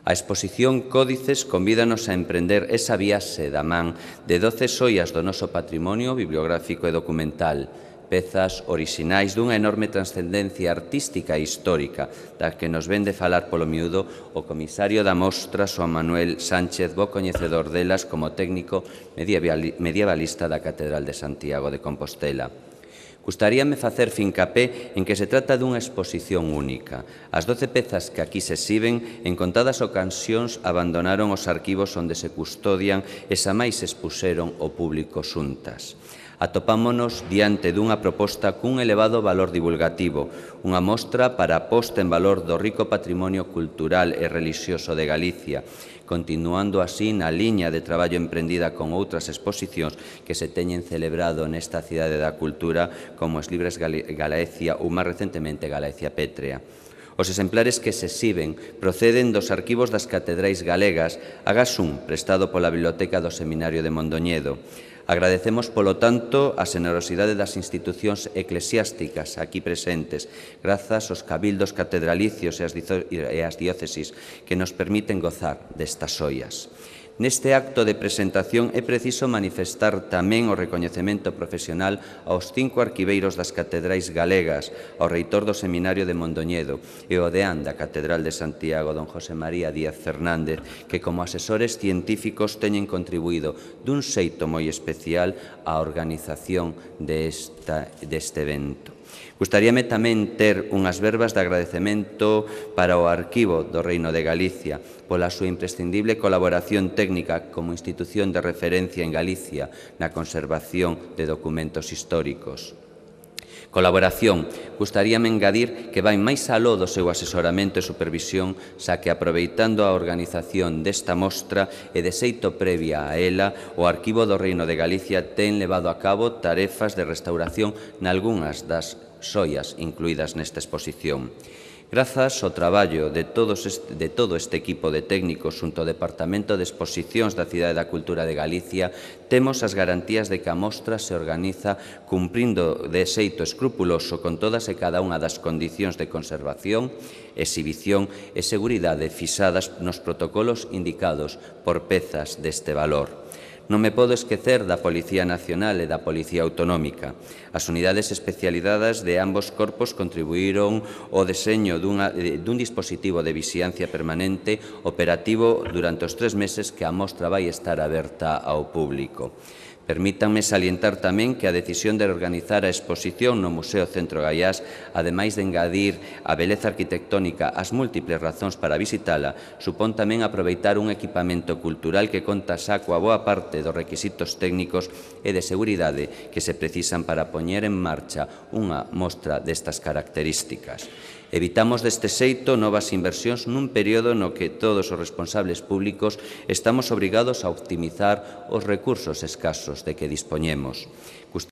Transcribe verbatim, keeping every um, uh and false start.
A exposición Códices convídanos a emprender esa viaxe da man de doce xoias do noso patrimonio bibliográfico e documental, pezas orixinais dunha enorme transcendencia artística e histórica, das que nos ven de falar polo miúdo o comisario da mostra Xoán Manuel Sánchez, bo coñecedor delas como técnico medievalista da Catedral de Santiago de Compostela. Gustaríame facer fincapé en que se trata dunha exposición única. As doce pezas que aquí se exhiben en contadas ocasións abandonaron os arquivos onde se custodian e xa máis expuxeron ao público xuntas. Atopámonos diante dunha proposta cun elevado valor divulgativo, unha mostra para a posta en valor do rico patrimonio cultural e relixioso de Galicia, continuando así na liña de traballo emprendida con outras exposicións que se teñen celebrado nesta cidade da cultura, como os Libres Galaecia ou, máis recentemente, Galaecia Pétrea. Os exemplares que se exhiben proceden dos arquivos das catedrais galegas, agás un prestado pola Biblioteca do Seminario de Mondoñedo. Agradecemos, polo tanto, a xenerosidade das institucións eclesiásticas aquí presentes, grazas aos cabildos catedralicios e ás diócesis que nos permiten gozar destas xoias. Neste acto de presentación é preciso manifestar tamén o recoñecemento profesional aos cinco arquiveiros das catedrais galegas, ao reitor do Seminario de Mondoñedo e ao deán da Catedral de Santiago, don José María Díaz Fernández, que como asesores científicos teñen contribuído dun xeito moi especial á organización deste evento. Gustaríame tamén ter unhas verbas de agradecemento para o Arquivo do Reino de Galicia pola súa imprescindible colaboración técnica como institución de referencia en Galicia na conservación de documentos históricos. Colaboración, gustaríame engadir que vai máis aló do seu asesoramento e supervisión, xa que aproveitando a organización desta mostra e de xeito previa a ela, o Arquivo do Reino de Galicia ten levado a cabo tarefas de restauración nalgunhas das xoias incluídas nesta exposición. Grazas ao traballo de, todos este, de todo este equipo de técnicos xunto ao Departamento de Exposicións da Cidade da Cultura de Galicia, temos as garantías de que a mostra se organiza cumprindo de xeito escrupuloso con todas e cada unha das condicións de conservación, exhibición e seguridade fixadas nos protocolos indicados por pezas deste valor. Non me podo esquecer da Policía Nacional e da Policía Autonómica. As unidades especializadas de ambos corpos contribuíron ao deseño dunha, dun dispositivo de vixiancia permanente operativo durante os tres meses que a mostra vai estar aberta ao público. Permítanme salientar tamén que a decisión de organizar a exposición no Museo Centro Gaiás, ademais de engadir a beleza arquitectónica ás múltiples razóns para visitala, supón tamén aproveitar un equipamento cultural que conta xa coa boa parte dos requisitos técnicos e de seguridade que se precisan para poñer en marcha unha mostra destas características. Evitamos deste xeito novas inversións nun período no que todos os responsables públicos estamos obrigados a optimizar os recursos escasos de que dispoñemos.